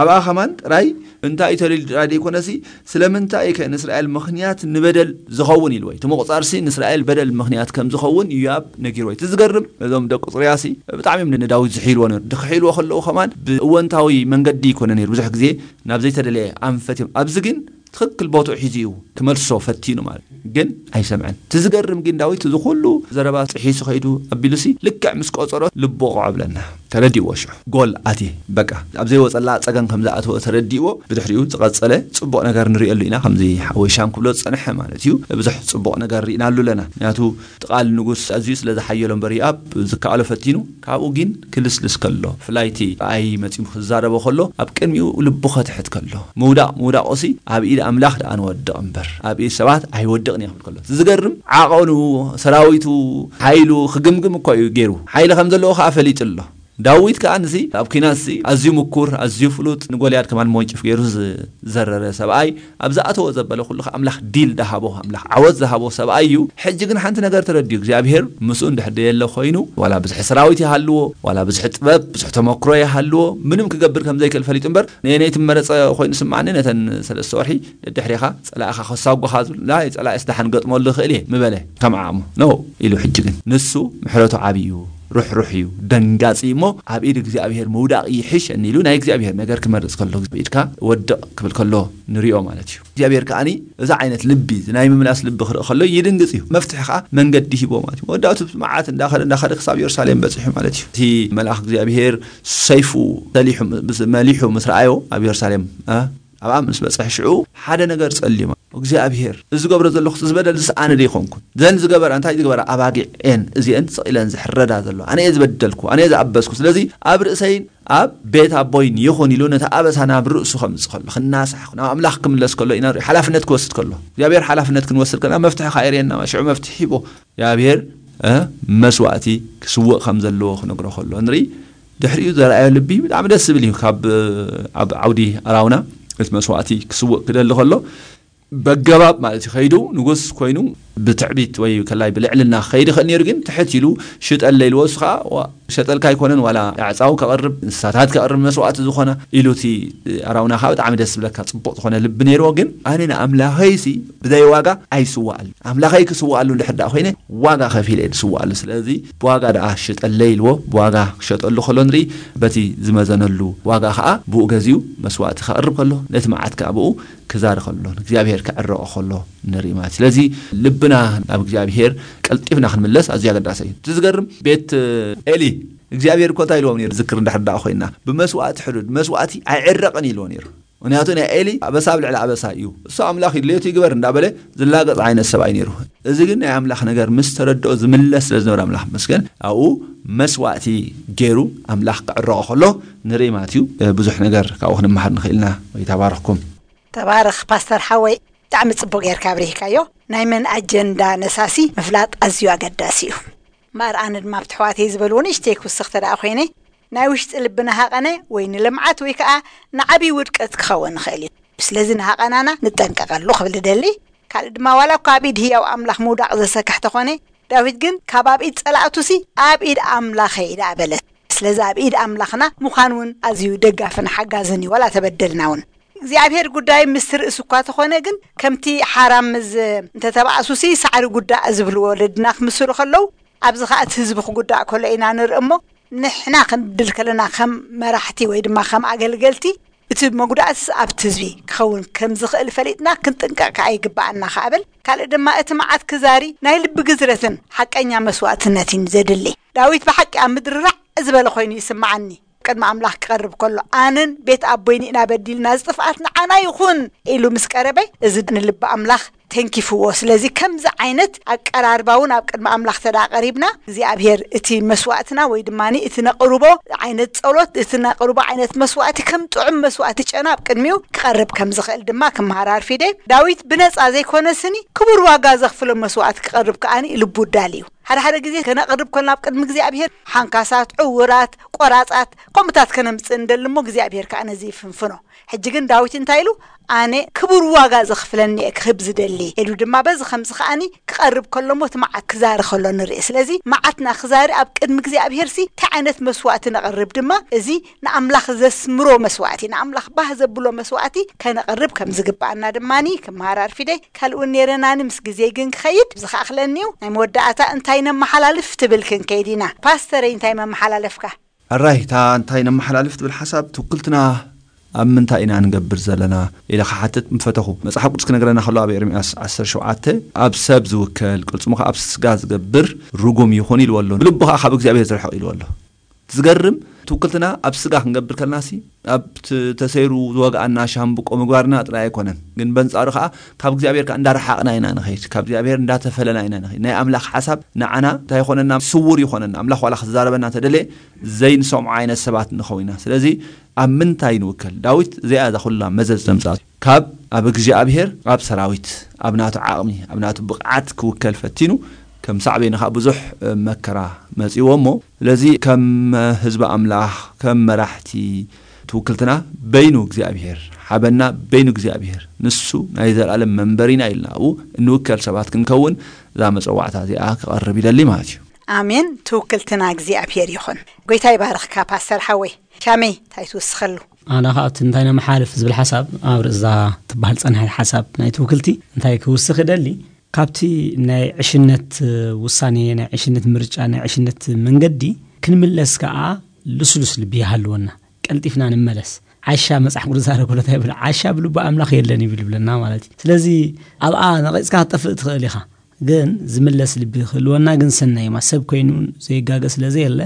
ኣብኣ ከማን ጥራይ እንታይ እዩ ተልዩ ጥራይ ደይኮነሲ፣ ስለምንታይ እዩ ከ ንእስራኤል ምኽንያት ንበደል ዝኸውን ኢሉ ወይ እቲ ምቑጻርሲ ንእስራኤል በደል ምኽንያት ከም ዝኸውን ዮኣብ ነጊርዎ። እቲ ዝገርም፣ እዞም ደቂ ጽሩያሲ ብጣዕሚ እዮም ንዳዊት ዝሕይልዎ ነይሩ። ድክሕይልዎ ከለዉ ከማን ብእወንታዊ መንገዲ ይኮነ ነይሩ። ብዙሕ ግዜ ናብ ዘይተደለየ ኣንፈት እዮም። ኣብዚ ግን ትኽክል ቦትኡ ሒዙ እዩ ክመልሶ ፈቲኑ ማለት እዩ። ግን ኣይሰምዐን። እቲ ዝገርም ግን ዳዊት እዚ ኩሉ ዘረባ ጥሒሱ ከይዱ ኣቢሉሲ ልክዕ ምስ ቆጸሮ ልቡ ቁዕ ብለና። ተረዲእዎ ሽዑ። ጎል ኣትየ። በቃ። ኣብ ዘይወጸላ ጸገም ከም ዝኣተወ ተረዲእዎ። ብድሕሪኡ ዝቐጸለ ጽቡቕ ነገር ንርእየሉ ኢና። ከምዚ ሓወይ ሻም ክብሎ ዝጸንሐ ማለት እዩ። ብዙሕ ጽቡቕ ነገር ርኢናሉ ኣለና። ምክንያቱ እቲ ቃል ንጉስ ኣዝዩ ስለ ዝሓየሎ እምበር ዮኣብ ዝከኣሎ ፈቲኑ። ካብኡ ግን ክልስልስ ከሎ፣ ብፍላይ እቲ ኣይ መጺኡ ክዛረቦ ከሎ፣ ኣብ ቅድሚኡ ልቡ ከትሕት ከሎ፣ ምውዳቕ ምውዳቑሲ ኣብ ኢድ ኣምላኽ ደኣ ንወድቕ እምበር፣ ኣብ ኢድ ሰባት ኣይወድቕን እየ ክብል ከሎ፣ እቲ ዝገርም ዓቐኑ፣ ሰራዊቱ፣ ሓይሉ ክግምግም እኮ እዩ ገይሩ። ሓይሊ ከም ዘለዎ ከኣ ፈሊጡ ኣሎ። ዳዊት ከኣ ንሲ ኣብ ኲናትሲ ኣዝዩ ምኩር፣ ኣዝዩ ፍሉጥ፣ ንጎልያድ ከማን መወንጨፍ ገይሩ ዝዘረረ ሰብኣይ፣ ኣብ ዝኣተዎ ዘበለ ኩሉ ከኣ ኣምላኽ ዲል ዝሃቦ፣ ኣምላኽ ዓወት ዝሃቦ ሰብኣይ እዩ። ሕጂ ግን ሓንቲ ነገር ተረዲኡ፣ እግዚኣብሔር ምስኡ እንድሕር ደየለ ኮይኑ፣ ዋላ ብዝሒ ሰራዊት ይሃልዎ፣ ዋላ ብዝሒ ጥበብ፣ ብዙሕ ተመክሮ ይሃልዎ፣ ምንም ክገብር ከም ዘይክእል ፈሊጡ እምበር፣ ነየነይ ትመረጸ ኮይኑ ስምዓኒ፣ ነተን ሰለስተ ወርሒ ደድሕሬኻ ጸላእኻ ከሳጉኻ ዝብል፣ ናይ ጸላእስ ደሓን ገጥመሉ ይኽእል እየ ምበለ ከም ዓቕሙ። ኖ ኢሉ ሕጂ ግን ንሱ ምሕረቱ ዓብዩ፣ ሩሕሩሕ እዩ፣ ደንጋጺ እሞ ኣብ ኢድ እግዚኣብሔር ምውዳቕ ይሕሸኒ ኢሉ ናይ እግዚኣብሔር ነገር ክመርጽ ከሎ፣ ኢድካ ወድቕ ክብል ከሎ ንሪኦ ማለት እዩ። እግዚኣብሔር ከኣኒ እዚ ዓይነት ልቢ፣ እዚ ናይ ምምላስ ልቢ ክርኢ ከሎ ይድንግጽ እዩ። መፍትሒ ከኣ መንገዲ ሂቦ ማለት እዩ። መወዳእቱ መዓት እንዳኸደ፣ እንዳኸደ ክሳብ የሩሳሌም በጺሑ ማለት እዩ። እቲ መልኣኽ እግዚኣብሔር ሰይፉ ሰሊሑ፣ ምስ-፣ መሊሑ ምስ ረኣዮ ኣብ የሩሳሌም፣ እ፣ ኣብኣ ምስ በጽሐ ሽዑ ሓደ ነገር ጸሊማ። እግዚኣብሔር፣ እዚ ዝገብሮ ዘለኹ እዚ በደል ዝስ ኣነ ዶ ይኾንኩን? ዘን ዝገበራ፣ እንታይ ዝገበራ? ኣባጊዕ እየን፣ እዚአን ስቕ ኢለን ዝሕረዳ ዘለዋ። ኣነ እየ ዝበደልኩ፣ ኣነ እየ ዝኣበስኩ። ስለዚ ኣብ ርእሰይን ኣብ ቤት ኣቦይን ይኹን ኢሉ ነቲ ኣበሳ ናብ ርእሱ ከምጽእ ከሎ፣ ክናሳሕ፣ ናብ ኣምላኽ ክምለስ ከሎ ኢና ንርኢ። ሓላፍነት ክወስድ ከሎ፣ እግዚኣብሔር ሓላፍነት ክንወስድ ከለና መፍትሒ ከኣ የርእየና። ሽዑ መፍትሒ ሂቦ። እግዚኣብሔር፣ እ፣ መስዋእቲ ክስውእ ከም ዘለዎ ክነግሮ ከሎ ንርኢ። ድሕሪኡ ዘርኣዮ ልቢ ብጣዕሚ ደስ ዝብል እዩ። ካብ፣ ኣብ ዓውዲ ኣራውና እቲ መስዋእቲ ክስውእ ክደሊ ከሎ፣ በገባብ ማለት እዩ ከይዱ ንጉስ ኮይኑ ብትዕቢት ወይ ከላይ ብልዕልና ክኸይድ ይኽእል ነይሩ፣ ግን ትሕት ኢሉ ሽጠለይ ኢልዎ። እሱ ከዓ ዋ-፣ ሸጠልካ ኣይኮነን፣ ዋላ ኣዕፃው ከቕርብ፣ እንስሳታት ከቕርብ መስዋእቲ ዝኾነ ኢሉ፣ እቲ ኣራውና ከዓ ብጣዕሚ ደስ ዝብለካ ፅቡቕ ዝኾነ ልቢ ነይርዎ። ግን ኣነ ንኣምላኸይሲ ብዘይ ዋጋ ኣይስዋኣሉ፣ ኣምላኸይ ክስዋኣሉ እንድሕር ደኣ ኮይነ ዋጋ ከፊለ እየ ዝስዋኣሉ። ስለዚ ብዋጋ ደኣ ሽጠለይ ኢልዎ፣ ብዋጋ ክሸጠሉ ከሎ ንርኢ። በቲ ዝመዘነሉ ዋጋ ከዓ ብኡ ገዚኡ መስዋእቲ ከቕርብ ከሎ፣ ነቲ መዓት ከዓ ብኡ ክዛሪ ከሎ፣ ንእግዚኣብሔር ክዕረቆ ከሎ ንርኢ ማለት እዩ። ስለዚ ልብና ናብ እግዚኣብሔር ቀልጢፍና ክንምለስ ኣዝዩ ኣገዳሲ እዩ። እቲ ዝገርም ቤት ኤሊ እግዚኣብሔር እኮ እንታይ ኢልዎም ነይሩ? ዝክር እንድሕር ደኣ ኮይና፣ ብመስዋእቲ ሕዱድ መስዋእቲ ኣይዕረቕን ኢልዎ ነይሩ። ምክንያቱ ናይ ኤሊ ኣበሳ ኣብ ልዕሊ ኣበሳ እዩ። እሱ ኣምላኽ እዩ፣ ድሌቱ ይግበር እንዳበለ ዝላገጽ ዓይነት ሰብኣይ ነይሩ። እዚ ግን ናይ ኣምላኽ ነገር ምስ ተረድኦ ዝምለስ ስለ ዝነበረ ኣምላኽ መስገን ኣብኡ መስዋእቲ ገይሩ ኣምላኽ ክዕረቆ ከሎ ንርኢ ማለት እዩ። ብዙሕ ነገር ካብኡ ክንመሃር ንኽእል ኢና። ወይ ተባረኽኩም። ተባረኽ ፓስተር ሓወይ፣ ብጣዕሚ ጽቡቅ ጌርካ ኣብሪህካዮ። ናይ መን ኣጀንዳ ነሳሲ ምፍላጥ ኣዝዩ ኣገዳሲ እዩ። እምበኣር ኣነ ድማ ኣብቲ ኣሕዋተይ ዝበልዎ ንእሽተይ ክውስኽ ተደኣ ኮይነ፣ ናይ ውሽጢ ልቢ ንሃቐነ ወይ ንልምዓት ወይ ከኣ ንዓብዪ ውድቀት ክኸውን ይኽእል እዩ። ስለዚ ንሃቐናና ንጠንቀቐሉ ክብል እደሊ። ካልእ ድማ ዋላ እኳ ኣብ ኢድ ህያው ኣምላኽ ምውዳቕ ዘሰክሕ ተኾነ፣ ዳዊት ግን ካብ ኣብ ኢድ ጸላእቱሲ ኣብ ኢድ ኣምላኸይ ደኣ በለ። ስለዚ ኣብ ኢድ ኣምላኽና ምዃን እውን ኣዝዩ ደጋፍን ሓጋዝን እዩ፣ ዋላ ተበደልና እውን። እግዚኣብሔር ጉዳይ ምስ ርእሱ እኳ ተኾነ ግን፣ ከምቲ ሓራም ምስ እንተተባእሱሲ ሳዕሪ ጉዳእ ዝብሉ ወለድና ክምስሉ ከለዉ፣ ኣብዚ ኸኣ እቲ ህዝቢ ክጉዳእ ከሎ ኢና ንርኢ እሞ፣ ንሕና ክንድል ከለና ከም መራሕቲ ወይ ድማ ከም ኣገልገልቲ፣ እቲ መጉዳእትስ ኣብቲ ህዝቢ ክኸውን ከም ዝኽእል ፈሊጥና ክንጥንቀቕ ከኣ ይግብኣና ከኣ እብል። ካልእ ድማ እቲ መዓት ክዛሪ ናይ ልቢ ግዝረትን ሓቀኛ መስዋእትነትን እዩ ዘድሊ። ዳዊት ብሓቂ ኣብ ምድሪ ራዕ ዝበለ ኮይኑ ይስምዓኒ። ቅድሚ ኣምላኽ ክቐርብ ከሎ፣ ኣነን ቤት ኣቦይን ኢና በዲልና፣ እዚ ጥፍኣት ንዓና ይኹን ኢሉ ምስ ቀረበ፣ እዚ ንልቢ ኣምላኽ ተንኪፍዎ። ስለዚ ከምዚ ዓይነት ኣቀራርባ እውን ኣብ ቅድሚ ኣምላኽ ተዳ ቀሪብና እግዚኣብሔር እቲ መስዋእትና ወይ ድማ እቲ ነቕርቦ ዓይነት ጸሎት፣ እቲ ነቕርቦ ዓይነት መስዋእቲ ከም ጥዑም መስዋእቲ ጨና ኣብ ቅድሚኡ ክቐርብ ከም ዝኽእል ድማ ክመሃር ኣርፊደ። ዳዊት ብነጻ ዘይኮነ ስኒ ክቡር ዋጋ ዘኽፍሎ መስዋእቲ ክቐርብ ከኣኒ ልቡ ዳል እዩ። ሓደ ሓደ ግዜ ከነቕርብ ኮልና ኣብ ቅድሚ እግዚኣብሔር ሓንካሳት፣ ዕውራት፣ ቆራጻት ከምኡታት ከነምጽእ እንደሊ እሞ እግዚኣብሔር ከኣ ነዚ ይፍንፍኖ። ሕጂ ግን ዳዊት እንታይ ኢሉ? ኣነ ክቡር ዋጋ ዘኽፍለኒ እየ ክህብ ዝደሊ ኢሉ ድማ በዚ ከምዚ ከኣኒ ክቐርብ ከሎ እሞ እቲ መዓት ክዛሪ ከሎ ንርኢ። ስለዚ መዓትና ክዛሪ ኣብ ቅድሚ እግዚኣብሔር ሲ እንታይ ዓይነት መስዋእቲ ነቕርብ ድማ እዚ ንኣምላኽ ዘስምሮ መስዋእቲ፣ ንኣምላኽ ባህ ዘብሎ መስዋእቲ ከነቕርብ ከም ዝግባኣና ድማኒ ክመሃር ኣርፊደይ። ካልእ እውን ነይረናኒ ምስ ግዜ ግን ክኸይድ ዝኸኣኽለኒ እዩ። ናይ መወዳእታ እንታይ ነመሓላልፍ ትብል ክንከይድ ኢና። ፓስተረይ እንታይ መመሓላለፍካ? ኣራይ እታ እንታይ ነመሓላልፍ ትብል ሓሳብ ትውክልትና ኣብ ምንታይ ኢና ንገብር ዘለና ኢለ ክሓትት ምፈተኹ። መጽሓፍ ቅዱስ ክነግረና ከሎ ኣብ ኤርምያስ ዓሰርተ ሸውዓተ ኣብ ሰብ ዝውከል ቅልጽሙ ከኣ ኣብ ስጋ ዝገብር ርጉም ይኹን ኢልዎ ኣሎ። ብልቡ ከኣ ካብ እግዚኣብሔር ዝርሕቕ ኢልዎ ኣሎ። ዝገርም ትውክልትና ኣብ ስጋ ክንገብር ከለናሲ ኣብ ት- ተሰይሩ ዝወግኣና ሻምብቆ ምግባርና ጥራይ ኣይኮነን፣ ግን በንጻሩ ከኣ ካብ እግዚኣብሔር ከኣ እንዳረሓቕና ኢና ንኸይድ፣ ካብ እግዚኣብሔር እንዳተፈለና ኢና ንኸይድ። ናይ ኣምላኽ ሓሳብ ንዓና እንታይ ይኾነና? ስውር ይኾነና። ኣምላኽ ዋላ ክዛረበና እንተደለየ ዘይንሰምዖ ዓይነት ሰባት ንኸውን ኢና። ስለዚ ኣብ ምንታይ ንውከል? ዳዊት እዚኣ እዛ ኩላ መዘዝ ዘምጻት ካብ ኣብ እግዚኣብሔር ኣብ ሰራዊት ኣብ ናቱ ዓቕሚ ኣብ ናቱ ብቕዓት ክውከል ፈቲኑ ከም ሳዕቤኑ ከዓ ብዙሕ መከራ መጺዎ እሞ ስለዚ ከም ህዝቢ ኣምላኽ ከም መራሕቲ ትውክልትና በይኑ እግዚኣብሔር ሓበና በይኑ እግዚኣብሔር ንሱ ናይ ዘላለም መንበሪና ኢልና ኣብኡ እንውከል ሰባት ክንከውን እዛ መጸዋዕታ እዚኣ ክቐርብ ይደሊ ማለት እዩ። ኣሜን። ትውክልትና እግዚኣብሔር ይኹን። ጎይታ ይባርኽካ ፓስተር ሓወይ። ሻመይ እንታይ ትውስኸሉ? ኣነ ከዓ እቲ እንታይ ነመሓልፍ ዝብል ሓሳብ ኣብ ርእዛ ትበሃል ጸንሐ ሓሳብ ናይ ትውክልቲ እንታይ ክውስኽ ይደሊ? ካብቲ ናይ ዕሽነት ውሳኔ ናይ ዕሽነት ምርጫ ናይ ዕሽነት መንገዲ ክንምለስ ከዓ ልስሉስ ልቢ ይሃልወና። ቀልጢፍና ንመለስ። ዓሻ መጽሓፍ ቅዱስ ዛረብ ከሎ እንታይ ይብል? ዓሻ ብልቡ ኣምላኽ የለን ይብል ይብለና ማለት እዩ። ስለዚ ኣብኣ ነቒጽካ ክትጠፍእ ትኽእል ኢኻ። ግን ዝምለስ ልቢ ክህልወና ግን ሰናይ እዩማ። ሰብ ኮይኑ ዘይጋገ ስለ ዘየለ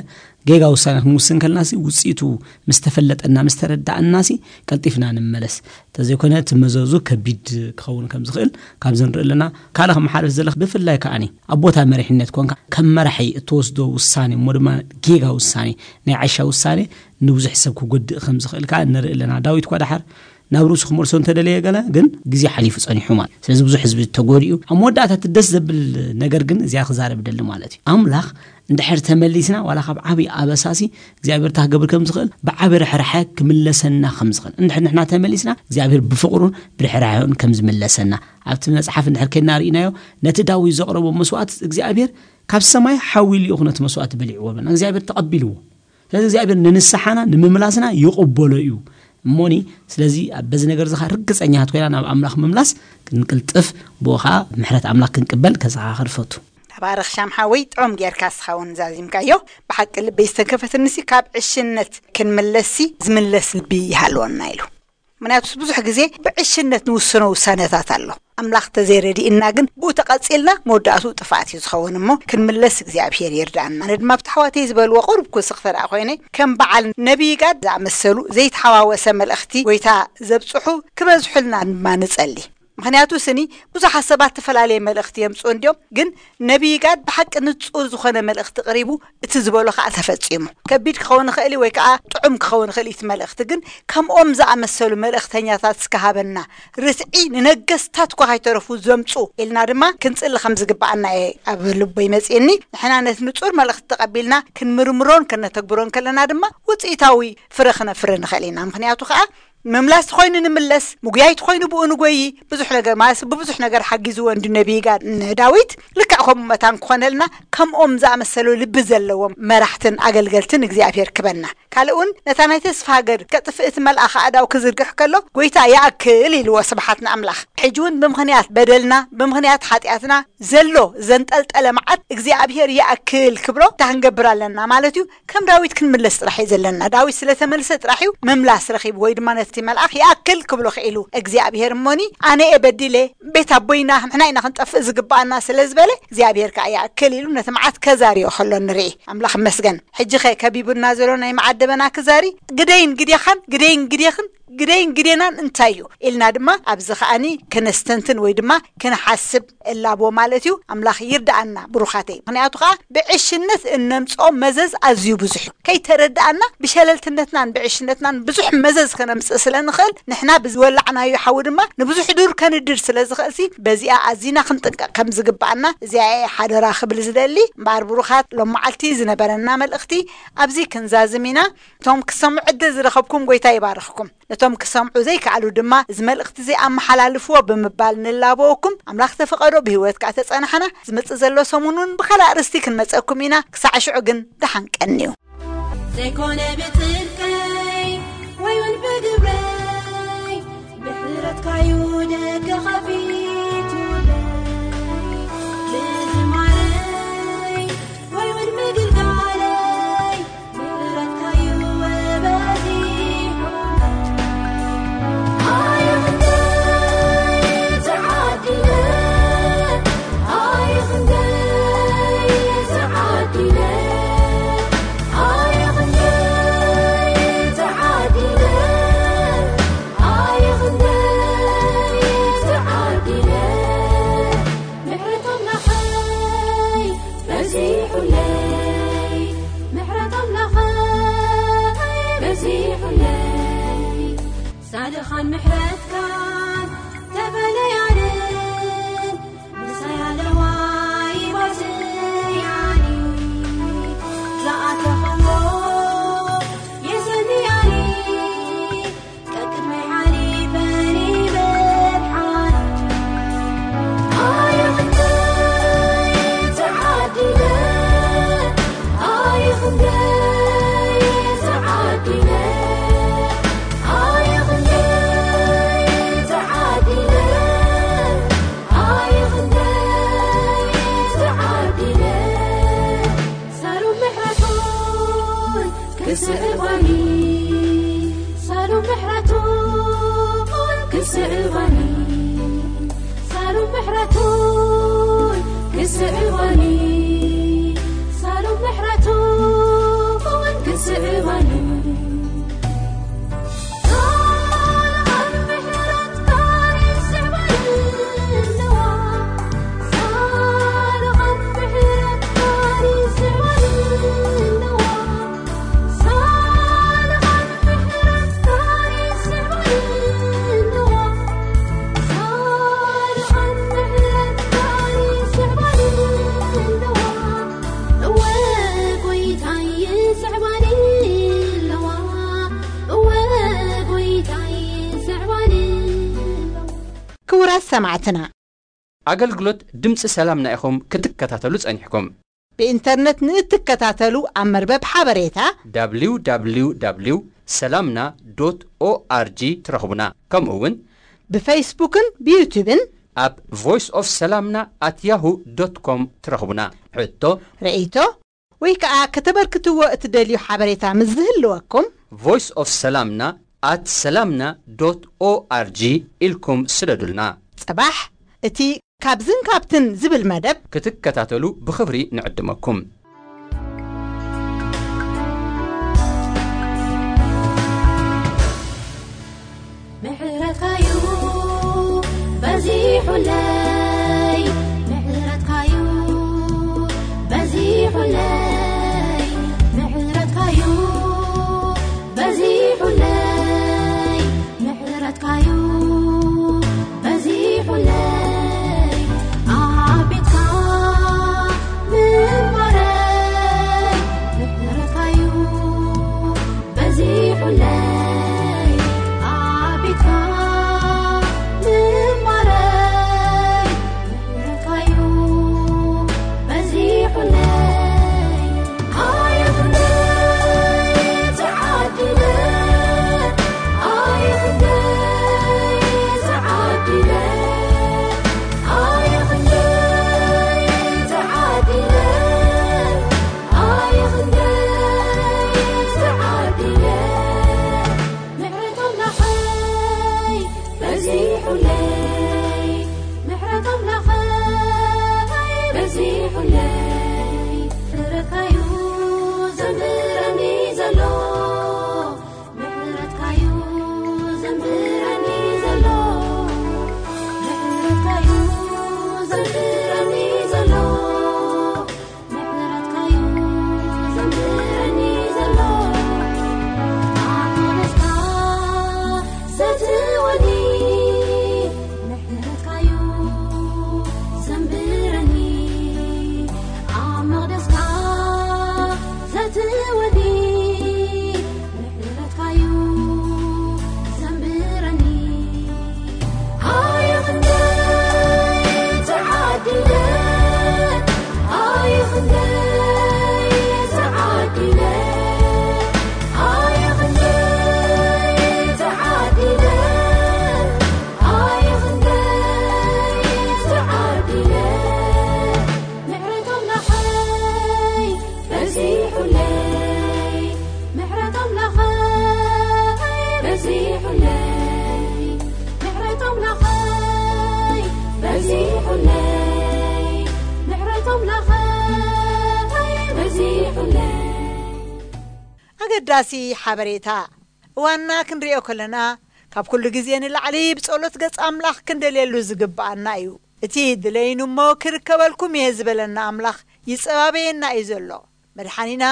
ጌጋ ውሳኔ ክንውስን ከለናሲ ውፅኢቱ ምስ ተፈለጠና ምስ ተረዳእናሲ ቀልጢፍና ንመለስ። እንተዘይኮነ እቲ መዘዙ ከቢድ ክኸውን ከም ዝኽእል ካብዚ ንርኢ ኣለና። ካልእ ከመሓላልፍ ዘለኽ ብፍላይ ከዓኒ ኣብ ቦታ መሪሕነት ኮንካ ከም መራሒ እትወስዶ ውሳኔ እሞ ድማ ጌጋ ውሳኔ ናይ ዓሻ ውሳኔ ንብዙሕ ሰብ ክጎድእ ከም ዝኽእል ከዓ ንርኢ ኣለና። ዳዊት እኳ ደሓር ናብ ርእሱ ክመልሶ እንተደለየ ገለ ግን ግዜ ሓሊፉ ጸኒሑ ማለት እዩ። ስለዚ ብዙሕ ህዝቢ ተጎዲኡ ኣብ መወዳእታ እቲ ደስ ዘብል ነገር ግን እዚኣ ክዛረብ ደሊ ማለት እዩ። ኣምላኽ እንድሕር ተመሊስና ዋላ ካብ ዓብዪ ኣበሳሲ እግዚኣብሔር እንታይ ክገብር ከም ዝኽእል ብዓብዪ ርሕራሐ ክምለሰና ከም ዝኽእል እንድሕር ንሕና ተመሊስና እግዚኣብሔር ብፍቕሩን ብርሕራሐን ከም ዝምለሰና ኣብቲ መጽሓፍ እንድሕር ከይድና ርኢናዮ ነቲ ዳዊት ዘቕረቦ መስዋእቲ እግዚኣብሔር ካብ ሰማይ ሓዊ ልኢኹ ነቲ መስዋእቲ በሊዕዎ በልና እግዚኣብሔር ተቐቢልዎ። ስለዚ እግዚኣብሔር ንንስሓና ንምምላስና ይቕበሎ እዩ። እሞኒ ስለዚ ኣብ በዚ ነገር ዝኻ ርግፀኛት ኮይና ናብ ኣምላኽ ምምላስ ክንቅልጥፍ ብኡ ከዓ ምሕረት ኣምላኽ ክንቅበል ከዘኻኽር ፈቱ። ተባረኽ ሻም ሓወይ ጥዑም ጌርካ እስኻ እውን ዛዚምካዮ። ብሓቂ ልበይ ዝተከፈትንሲ ካብ ዕሽነት ክንምለስሲ ዝምለስ ልቢ ይሃልወና ኢሉ። ምክንያቱስ ብዙሕ ግዜ ብዕሽነት ንውስኖ ውሳነታት ኣሎ። ኣምላኽ ተዘይረድእና ግን ብኡ ተቐጺልና መወዳእቱ ጥፍኣት እዩ ዝኸውን እሞ ክንምለስ እግዚኣብሔር ይርዳእና። ኣነ ድማ ኣብቲ ኣሕዋተይ ዝበልዎ ቁሩብ ክውስኽ ተደኣ ኮይነ ከም በዓል ነቢይ ጋድ ዝኣመሰሉ ዘይተሓዋወሰ መልእኽቲ ጎይታ ዘብጽሑ ክበዝሑልና ድማ ንጸሊ። ምክንያቱ ስኒ ብዙሓት ሰባት ተፈላለየ መልእኽቲ የምጽኡ እንዲዮም ግን ነቢይ ጋድ ብሓቂ ንጹር ዝኾነ መልእኽቲ ቅሪቡ እቲ ዝበሎ ከዓ ተፈጺሙ። ከቢድ ክኸውን ይኽእል እዩ ወይ ከዓ ጥዑም ክኸውን ይኽእል እዩ እቲ መልእኽቲ ግን ከምኦም ዝኣመሰሉ መልእኽተኛታት እስከ ሃበና። ርትዒ ንነገስታት እኳ ካይተረፉ ዘምፁ ኢልና ድማ ክንፅሊ ከም ዝግባኣና እየ ኣብ ልቦ ይመፅእኒ። ንሕና ነቲ ንፁር መልእኽቲ ተቐቢልና ክንምርምሮን ከነተግብሮን ከለና ድማ ውፅኢታዊ ፍረ ክነፍሪ ንኽእል ኢና። ምኽንያቱ ከዓ ምምላስ ትኾይኑ ንምለስ፣ ምጉያይ ትኾይኑ ብኡ ንጎይ። ብዙሕ ነገር ማለት ብብዙሕ ነገር ሓጊዝዎ እንዱ ነቢይ ጋድ ንዳዊት። ልክዕ ከምኡ መታን ክኾነልና ከምኦም ዝኣመሰሉ ልቢ ዘለዎም መራሕትን ኣገልገልትን እግዚኣብሔር ክበና። ካልእ እውን ነታ ናይ ተስፋ ሃገር ከጥፍእ እቲ መልኣኽ ኣእዳው ክዝርግሕ ከሎ፣ "ጎይታ ይኣክል" ኢልዎ፣ ስብሓት ንኣምላኽ። ሕጂ እውን ብምኽንያት በደልና፣ ብምኽንያት ሓጢኣትና ዘሎ ዘንጠልጠለ መዓት እግዚኣብሔር ይኣክል ክብሎ እንታይ ክንገብር ኣለና ማለት እዩ? ከም ዳዊት ክንምለስ ጥራሕ እዩ ዘለና። ዳዊት ስለ ተመልሰ ጥራሕ እዩ ምምላስ ረኺቡ ወይ ድማ ነቲ መልኣኽ ይኣክል ክብሎ ክኢሉ። እግዚኣብሔር እሞኒ ኣነ እየ በዲለ፣ ቤት ኣቦይና ንሕና ኢና ክንጠፍእ ዝግባኣና ስለ ዝበለ እግዚኣብሔር ከኣ ይኣክል ኢሉ ነቲ መዓት ከዛርዮ ከሎ ንርኢ። ኣምላኽ ይመስገን። ሕጂ ኸ ከቢቡና ዘሎ ናይ መዓት ደበና ክዛሪ ግደይን ግዴኻን፣ ግደይን ግዴኽን ግደይን ግዴናን እንታይ እዩ ኢልና ድማ ኣብዚ ከኣኒ ክነስተንትን ወይ ድማ ክንሓስብ እላቦ ማለት እዩ። ኣምላኽ ይርዳኣና ብሩኻተይ። ምኽንያቱ ከዓ ብዕሽነት እነምፅኦ መዘዝ ኣዝዩ ብዙሕ እዩ። ከይተረዳኣና ብሸለልትነትናን ብዕሽነትናን ብዙሕ መዘዝ ከነምፅእ ስለ ንኽእል፣ ንሕና ብዝወላዕናዮ ሓዊ ድማ ንብዙሕ ዱር ከንድድ ስለ ዝኽእልሲ፣ በዚኣ ኣዚና ክንጥንቀቕ ከም ዝግባኣና እዚኣ እየ ሓደራ ክብል ዝደሊ። እምበኣር ብሩኻት፣ ሎም መዓልቲ ዝነበረና መልእኽቲ ኣብዚ ክንዛዝም ኢና። እቶም ክሰምዑ ዕድል ዝረኸብኩም ጎይታ ይባርኽኩም። ነቶም ክሰምዑ ዘይከኣሉ ድማ እዚ መልእኽቲ እዚ ኣመሓላልፍዎ ብምባል ንላበወኩም። ኣምላኽ ተፈቐዶ ብህይወት ከኣ ተጸናሕና ዝመጽእ ዘሎ ሰሙን እውን ብኻልእ ኣርእስቲ ክንመጸኩም ኢና። ክሳዕ ሽዑ ግን ደሓን ቀንዩ። ዘይኮነ ብጽድቀይ ወይ እውን ብግብረይ፣ ምሕረትካዩ ደገ ከፊቱለይ። ብዝማረይ ወይ እውን ምግልጋለይ፣ ምሕረትካዩ በዚሑ። ኣየ ክንደይ ተዓዲለ፣ ኣየ ክንደይ ተዓዲለ፣ ኣየ ክንደይ ተዓዲለ፣ ኣየ ክንደይ ተዓዲለ። ምሕረት ኣምላኸይ በዚሑለይ፣ ምሕረት ኣምላኸይ በዚሑለይ። ጻድቓን ምሕረትካን ተፈለያንን፣ ምሳይ ኣለዋ ይባስያኒ። ዝኣተኽዎ የሰንያኒ። ሳሩ ምሕረቱን ክስዕባኒ፣ ሳሩ ምሕረቱን ክስዕባኒ፣ ሳሩ ምሕረቱን ክስዕባኒ፣ ሳሩ ምሕረቱን ክስዕባኒ። ክቡራት ሰማዕትና፣ ኣገልግሎት ድምፂ ሰላምና ኢኹም ክትከታተሉ ጸኒሕኩም። ብኢንተርነት ንእትከታተሉ ኣብ መርበብ ሓበሬታ www ሰላምና ዶት ኦኣርጂ ትረኽቡና። ከምኡ እውን ብፌስቡክን ብዩቱብን ኣብ ቮይስ ኦፍ ሰላምና ኣት ያሁ ዶት ኮም ትረኽቡና። ሕቶ፣ ርእይቶ ወይ ከኣ ከተበርክትዎ እትደልዩ ሓበሬታ ምስ ዝህልወኩም፣ ቮይስ ኦፍ ሰላምና ኣት ሰላምና ዶት ኦኣርጂ ኢልኩም ስደዱልና። ጽባሕ እቲ ካብዝን ካብትን ዝብል መደብ ክትከታተሉ ብኽብሪ ንዕድመኩም። ምሕረትካዩ በዚሑለይ፣ ምሕረትካዩ በዚሑለይ፣ ምሕረትካዩ በዚሑለይ፣ ምሕረትካዩ በዚሑለይ። ኣብ ቤትካ ምንባረይ፣ ምሕረትካዩ በዚሑለይ። ኣብ ቤትካ ምንባረይ፣ ኣገዳሲ ሓበሬታ። እዋንና ክንሪኦ ከለና፣ ካብ ኩሉ ግዜ ንላዕሊ ብጸሎት ገጽ ኣምላኽ ክንደልየሉ ዝግብኣና እዩ። እቲ ድለይኑ እሞ ክርከበልኩም እየ ዝበለና ኣምላኽ ይጸባበየና እዩ ዘሎ። መድሓኒና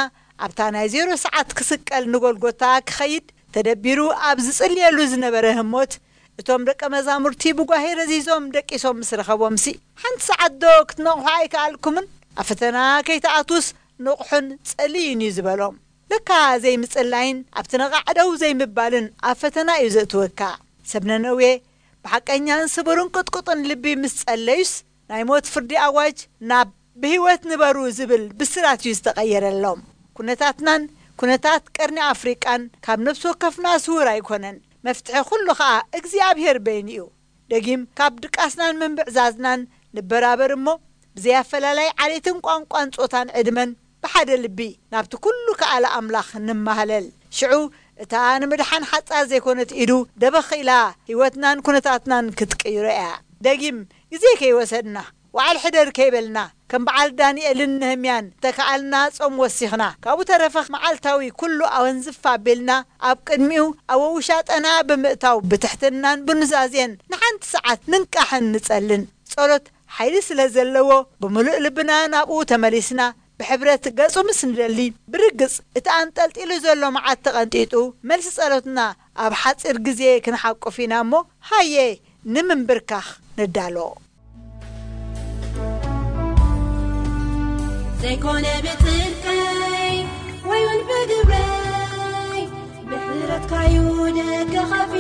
ኣብታ ናይ ዜሮ ሰዓት ክስቀል ንጎልጎታ ክኸይድ ተደቢሩ ኣብ ዝጽልየሉ ዝነበረ ህሞት፣ እቶም ደቀ መዛሙርቲ ብጓሄ ረዚዞም ደቂሶም ምስ ረኸቦምሲ፣ ሓንቲ ሰዓት ዶ ክትነቕሑ ኣይከኣልኩምን? ኣብ ፈተና ከይትኣትዉስ ንቕሑን ጸልዩን እዩ ዝበሎም። ለካ ዘይምጽላይን ኣብቲ ነቓዕ ደው ዘይምባልን ኣብ ፈተና እዩ ዘእትወካ። ሰብ ነነዌ ብሓቀኛን ስቡርን ቅጥቁጥን ልቢ ምስ ጸለዩስ፣ ናይ ሞት ፍርዲ ኣዋጅ ናብ ብህይወት ንበሩ ዝብል ብስራት እዩ ዝተቐየረሎም። ኩነታትናን ኩነታት ቀርኒ ኣፍሪቃን ካብ ነፍሲ ወከፍና ስዉር ኣይኮነን። መፍትሒ ኩሉ ኸኣ እግዚኣብሔር በይኑ እዩ። ደጊም ካብ ድቃስናን ምንብዕዛዝናን ንበራበር እሞ፣ ብዘይ ኣፈላላይ ዓሌትን ቋንቋን ጾታን ዕድመን ብሓደ ልቢ ናብቲ ኩሉ ከኣለ ኣምላኽ ንማህለል። ሽዑ እታ ንምድሓን ሓጻር ዘይኮነት ኢዱ ደበኽ ኢላ ህይወትናን ኩነታትናን ክትቅይሮ እያ። ደጊም ግዜ ከይወሰድና፣ ዋዕል ሕደር ከይበልና፣ ከም በዓል ዳንኤልን ነህምያን ተከኣልና ጾም ወሲኽና፣ ካብኡ ተረፈ መዓልታዊ ኩሉ ኣወንዝፍ ኣቢልና ኣብ ቅድሚኡ ኣብ ውሻጠና ብምእታው ብትሕትናን ብኑዛዜን ንሓንቲ ሰዓት ንንቃሕን ንጸልን። ጸሎት ሓይሊ ስለ ዘለዎ ብምሉእ ልብና ናብኡ ተመሊስና ብሕብረት ገጹ ምስ ንደሊ፣ ብርግጽ እቲ ኣንጠልጢሉ ዘሎ መዓት ተቐንጢጡ፣ መልሲ ጸሎትና ኣብ ሓጺር ግዜ ክንሓቁፍ ኢና እሞ፣ ሃየ ንምንብርካኽ ንዳሎ። ዘይኮነ ብጽድቀይ ወይ እውን ብግብረይ፣ ብሕረትካዩ ደገ ኸፊ